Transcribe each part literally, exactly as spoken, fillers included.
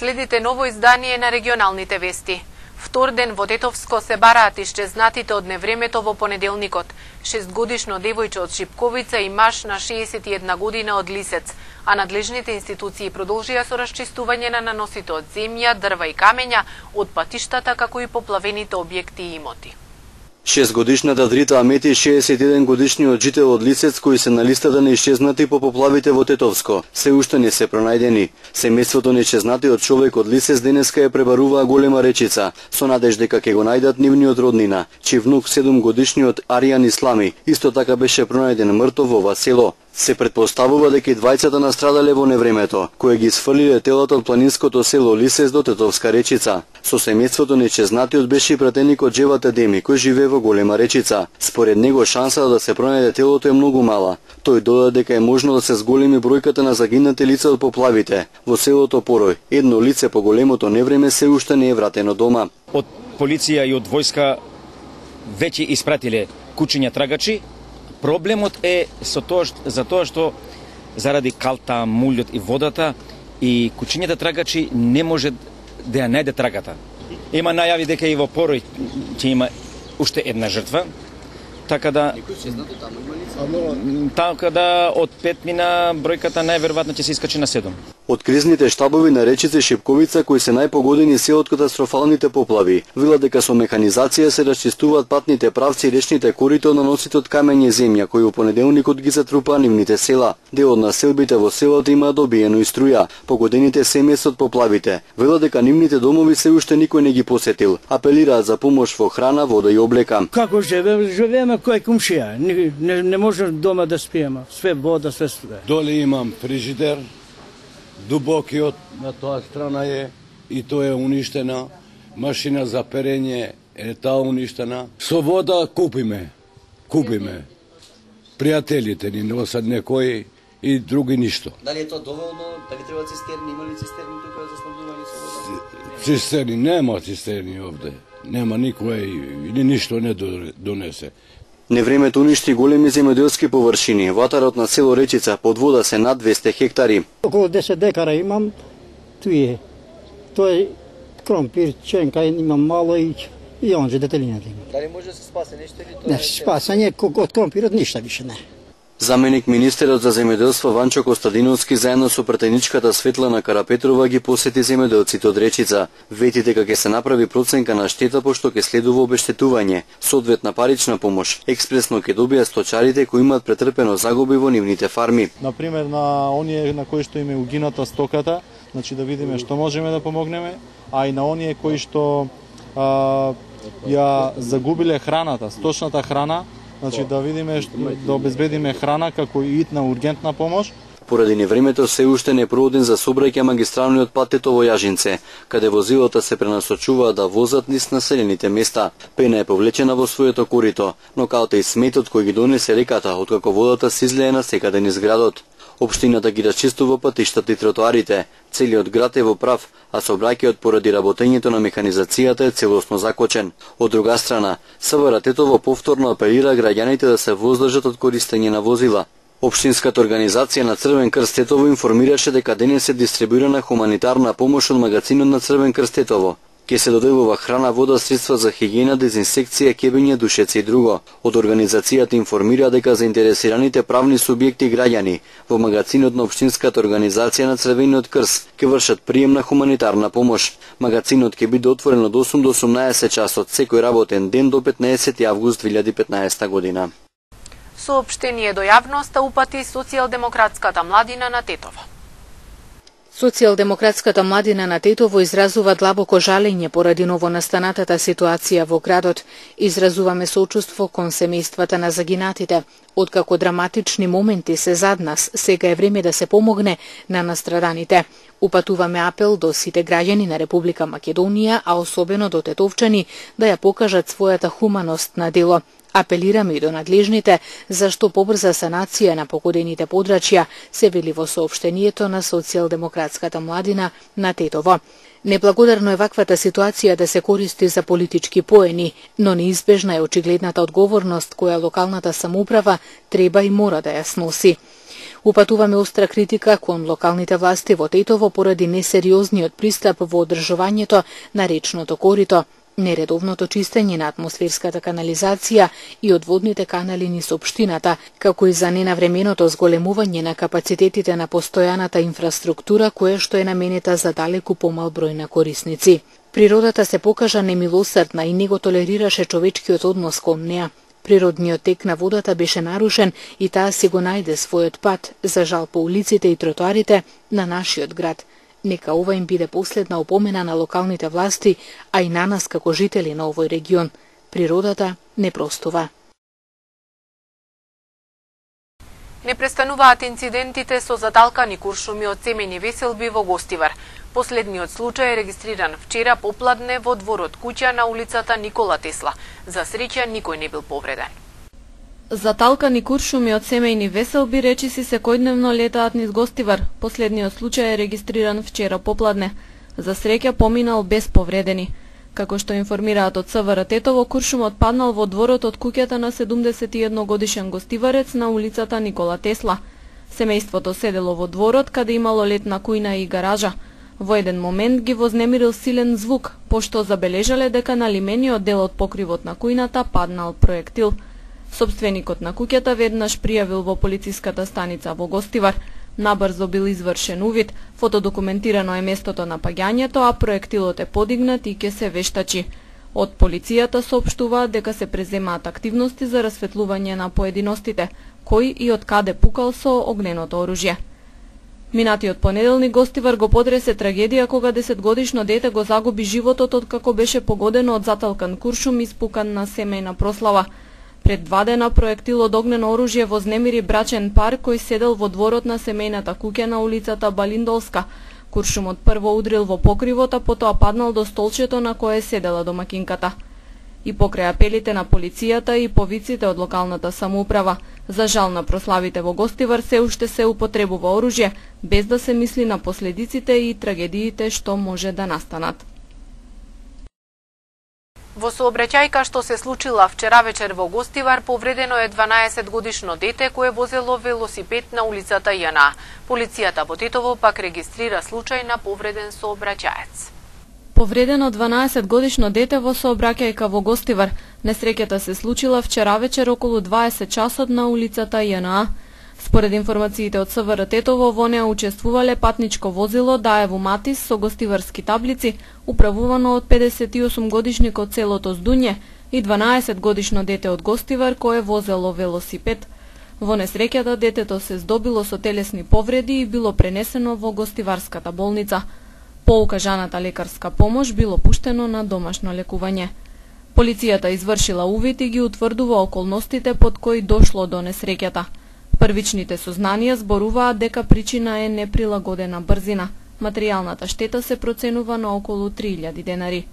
Следите ново издание на регионалните вести. Втор ден во Тетовско се бараат исчезнатите од невремето во понеделникот. Шестгодишно девојче од Шипковица и маж на шеесет и една година од Лисец, а надлежните институции продолжија со расчистување на наносите од земја, дрва и камења од патиштата, како и поплавените објекти и имоти. Шестгодишната Дрита Амети и шеесет и еден годишниот жител од Лисец, кои се на листата на исчезнати по поплавите во Тетовско, се уште не се пронајдени. Семејството на исчезнатиот човек од Лисец денеска ја пребаруваа Голема Речица, со надеж дека ќе го најдат нивниот роднина, чиј внук седумгодишниот Аријан Ислами исто така беше пронајден мртов во ова село. Се предпоставува дека и двајцата настрадале во невремето, кое ги сфрлиле телото од планинското село Лисец до Тетовска Речица. Со семејството на исчезнатиот беше и пратеникот Джевата Деми, кој живее во Голема Речица. Според него шансата да се пронајде телото е многу мала. Тој додаде дека е можно да се зголеми бројката на загинати лица од поплавите. Во селото Порој, едно лице по големото невреме се уште не е вратено дома. Од полиција и од војска веќе испратиле кучиња трагачи. Проблемот е со тоа што, за тоа што заради калта, мулјот и водата и кучињата трагачи не може да ја најде трагата. Има најави дека и во Порој ќе има уште една жртва, така да така да од пет мина бројката најверојатно ќе се искачи на седум. Од кризните штабови на Речица и Шипковица, кои се најпогодени се од катастрофалните поплави, велат дека со механизација се расчистуваат патните правци и речните корита од наносите од камење и земја, кои во понеделникот ги затрупаа нивните села. Дел од населбите во селото има добиено и струја. Погодените семејства од поплавите велат дека нивните домови се уште никој не ги посетил. Апелираат за помош во храна, вода и облека. Како живееме? Живееме кој комшија. Не, не, не може дома да спиеме. Све вода, све струја. Доле имам фрижидер. Дубокиот на тоа страна е и тоа е уништена. Машина за перење е таа уништена. Со вода купиме. Купиме. Пријателите ни носат некои и други ништо. Дали е тоа доволно? Дали треба цистерни? Има ли цистерни тука за снабдување со вода? Цистерни нема цистерни овде. Нема никој или ништо не донесе. Невремето уништи големи земјоделски површини. Ватарот на село Речица под вода се над двесте хектари. Околу десет декара имам, туе. Тоа е кромпир, ченка, имам мало и и онже детелината има. Дали може да се спасе нешто или тоа? Не, спасање од кромпирот ништо више не. Заменик министерот за земјоделство Ванчо Костадиновски заедно со пратеничката Светлана Карапетрова ги посети земјоделците од Речица. Вети дека ќе се направи проценка на штета пошто ќе следува обештетување, соодветна парична помош. Експресно ќе добијат сточарите кои имаат претрпено загуби во нивните фарми. Например на оние на кои што им е угината стоката, значи да видиме што можеме да помогнеме, а и на оние кои што а, ја загубиле храната, сточната храна. Значи да видиме, да обезбедиме храна како и итна ургентна помош. Поради невремето се уште не проводен за сообраќај магистралниот пат Тетово-Јажинце, каде возилата се пренасочуваат да возат низ населените места. Пена е повлечена во своето корито, но каото и сметот кој ги донесе реката, откако водата се излее на секаде низ градот. Општината ги расчистува патиштата и тротоарите. Целиот град е во прав, а сообраќајот поради работењето на механизацијата е целосно закочен. Од друга страна, СВР Тетово повторно апелира граѓаните да се воздржат од користење на возила. Општинската организација на Црвен крст Тетово информираше дека денес е дистрибуирана хуманитарна помош од магазинот на Црвен крст Тетово. Ке се доделува храна, вода, средства за хигиена, дезинсекција, кебење, душеци и друго. Од организацијата информира дека заинтересираните правни субјекти и граѓани во магазинот на Општинската организација на Црвениот крст ќе вршат прием на хуманитарна помош. Магазинот ќе биде отворен од осум до осумнаесет часот секој работен ден до петнаесети август две илјади и петнаесета година. Соопштение до јавноста упати Социјалдемократската младина на Тетово. Социјалдемократската младина на Тетово изразува длабоко жалење поради новонастанатата ситуација во градот. Изразуваме сочувство кон семејствата на загинатите. Откако драматични моменти се зад нас, сега е време да се помогне на настраданите. Упатуваме апел до сите граѓани на Република Македонија, а особено до тетовчани, да ја покажат својата хуманост на дело. Апелираме и до надлежните за што побрза санација на погодените подрачја, се вели во соопштението на Социјалдемократската младина на Тетово. Неблагодарно е ваквата ситуација да се користи за политички поени, но неизбежна е очигледната одговорност која локалната самоуправа треба и мора да ја сноси. Упатуваме остра критика кон локалните власти во Тетово поради несериозниот пристап во одржувањето на речното корито, нередовното чистење на атмосферската канализација и одводните канали низ општината, како и за ненавременото зголемување на капацитетите на постојаната инфраструктура која што е наменета за далеку помал број на корисници. Природата се покажа немилосрдна и не го толерираше човечкиот однос кон неа. Природниот тек на водата беше нарушен и таа си го најде својот пат, за жал по улиците и тротоарите на нашиот град. Нека ова им биде последна опомена на локалните власти, а и на нас како жители на овој регион. Природата не простува. Не престануваат инцидентите со заталкани куршуми од семејни веселби во Гостивар. Последниот случај е регистриран вчера попладне во дворот куќа на улицата Никола Тесла. За среќа никој не бил повреден. Заталкани куршуми од семејни веселби речиси секојдневно летаат низ Гостивар. Последниот случај е регистриран вчера попладне. За среќа поминал без повредени. Како што информираат од ЦВР Тетово, куршумот паднал во дворот од куќата на седумдесет и едногодишен гостиварец на улицата Никола Тесла. Семејството седело во дворот каде имало летна кујна и гаража. Во еден момент ги вознемирил силен звук, пошто забележале дека на лимениот дел од покривот на кујната паднал проектил. Сопственикот на куќата веднаш пријавил во полициската станица во Гостивар. Набрзо бил извршен увид, фотодокументирано е местото на паѓањето, а проектилот е подигнат и ќе се вештачи. Од полицијата соопштуваат дека се преземаат активности за расветлување на поединостите, кој и од каде пукал со огненото оружје. Минатиот понеделник Гостивар го потресе трагедија кога десетгодишно дете го загуби животот откако беше погодено од заталкан куршум испукан на семејна прослава. Пред два дена проектил од огнено оружје вознемири брачен пар кој седел во дворот на семејната куќа на улицата Балиндолска. Куршумот прво удрил во покривот, а потоа паднал до столчето на кое седела домакинката. И покрај апелите на полицијата и повиците од локалната самоуправа, за жал на прославите во Гостивар се уште се употребува оружје, без да се мисли на последиците и трагедиите што може да настанат. Во сообраќајка што се случила вчера вечер во Гостивар, повредено е дванаесетгодишно дете кое возело велосипед на улицата Јана. Полицијата во Тетово пак регистрира случај на повреден сообраќаец. Повредено дванаесетгодишно дете во сообраќајка во Гостивар. Несреќата се случила вчера вечер околу дваесет часот на улицата Јана. Според информациите од СВР Тетово, во неа учествувале патничко возило Даево Матис со гостиварски таблици, управувано од педесет и осум годишник од селото Здуње и дванаесет годишно дете од Гостивар кое возело велосипед. Во несреќата детето се здобило со телесни повреди и било пренесено во гостиварската болница. По укажаната лекарска помош било пуштено на домашно лекување. Полицијата извршила увид и ги утврдува околностите под кои дошло до несреќата. Првичните сознанија зборуваат дека причина е неприлагодена брзина. Материјалната штета се проценува на околу три илјади денари.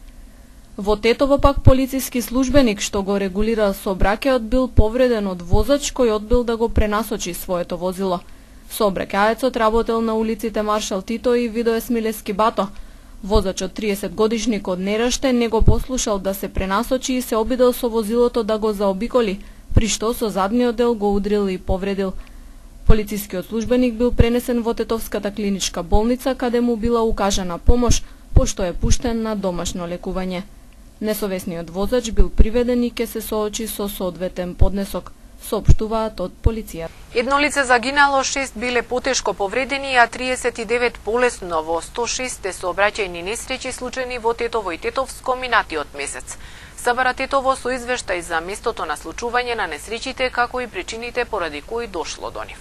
Во Тетово пак полициски службеник што го регулира сообраќајот бил повреден од возач кој одбил да го пренасочи своето возило. Сообраќаецот работел на улиците Маршал Тито и Видое Смилевски Бато. Возачот триесет годишник од Нераште не го послушал да се пренасочи и се обидел со возилото да го заобиколи, при што со задниот дел го удрил и повредил. Полицискиот службеник бил пренесен во Тетовската клиничка болница, каде му била укажана помош, пошто е пуштен на домашно лекување. Несовесниот возач бил приведен и ќе се соочи со соодветен поднесок, соопштуваат од полиција. Едно лице загинало, шест биле потешко повредени, а триесет и девет полесно во сто шест сообраќајни несреќи случајни во Тетово и Тетовско минатиот месец. СБР Тетово со извештај за местото на случување на несреќите, како и причините поради кои дошло до нив.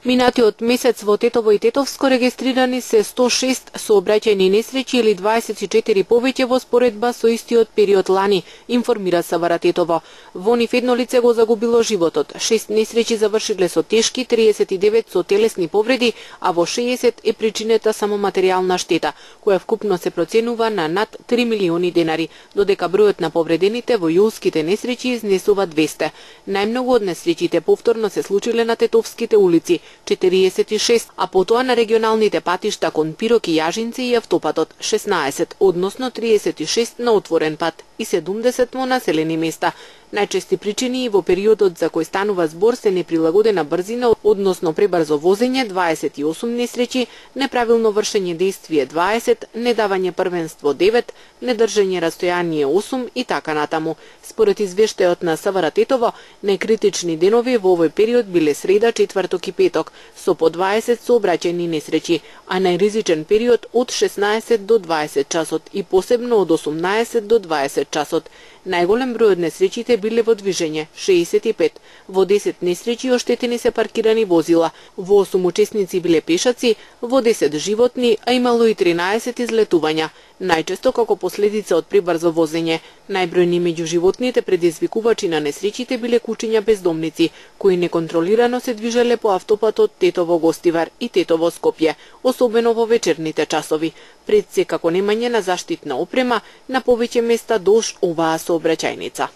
Минатиот месец во Тетово и Тетовско регистрирани се сто шест сообраќајни несреќи или дваесет и четири повеќе во споредба со истиот период лани, информира СБР Тетово. Во нив едно лице го загубило животот, шест несреќи завршиле со тешки, триесет и девет со телесни повреди, а во шеесет е причинета само материјална штета, која вкупно се проценува на над три милиони денари, додека бројот на повредените во јулските несреќи изнесува двесте. Најмногу од несреќите повторно се случиле на тетовските улици, четириесет и шест, а потоа на регионалните патишта кон Пирок и Јажинци и автопатот шеснаесет, односно триесет и шест на отворен пат и седумдесет во населени места. Најчести причини и во периодот за кој станува збор се неприлагодена брзина, односно пребрзо возење дваесет и осум несреќи, неправилно вршење действие дваесет, недавање првенство девет, недржање растојание осум и така натаму. Според извештајот на СВР Тетово, најкритични денови во овој период биле среда, четврток и петок, со по дваесет сообраќајни несреќи, а најризичен период од шеснаесет до дваесет часот и посебно од осумнаесет до дваесет часот. Најголем број од несреќите биле во движење, шеесет и пет. Во десет несреќи оштетени се паркирани возила, во осум учесници биле пешаци, во десет животни, а имало и тринаесет излетувања, најчесто како последица од пребрзо возење. Најбројни меѓу животните предизвикувачи на несреќите биле кучиња бездомници, кои неконтролирано се движеле по автопатот Тетово-Гостивар и Тетово-Скопје, особено во вечерните часови, пред се како немање на заштитна опрема на повеќе места долж оваа сообраќајница.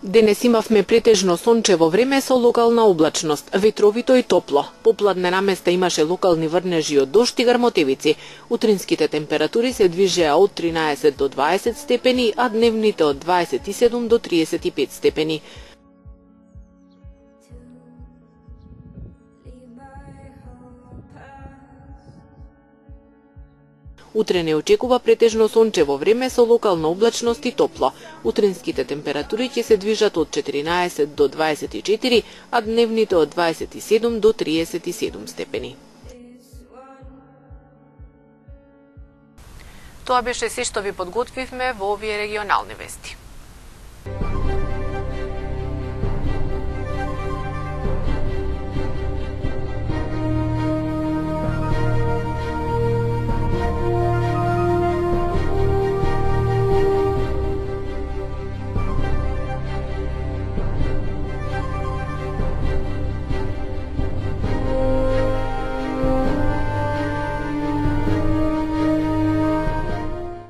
Денес имавме претежно сончево време со локална облачност, ветровито и топло. Попладне наместа имаше локални врнежи од дожд и грмотевици. Утринските температури се движеа од тринаесет до дваесет степени, а дневните од дваесет и седум до триесет и пет степени. Утре не очекува претежно сончево време со локална облачност и топло. Утринските температури ќе се движат од четиринаесет до дваесет и четири, а дневните од дваесет и седум до триесет и седум степени. Тоа беше се што ви подготвивме во овие регионални вести.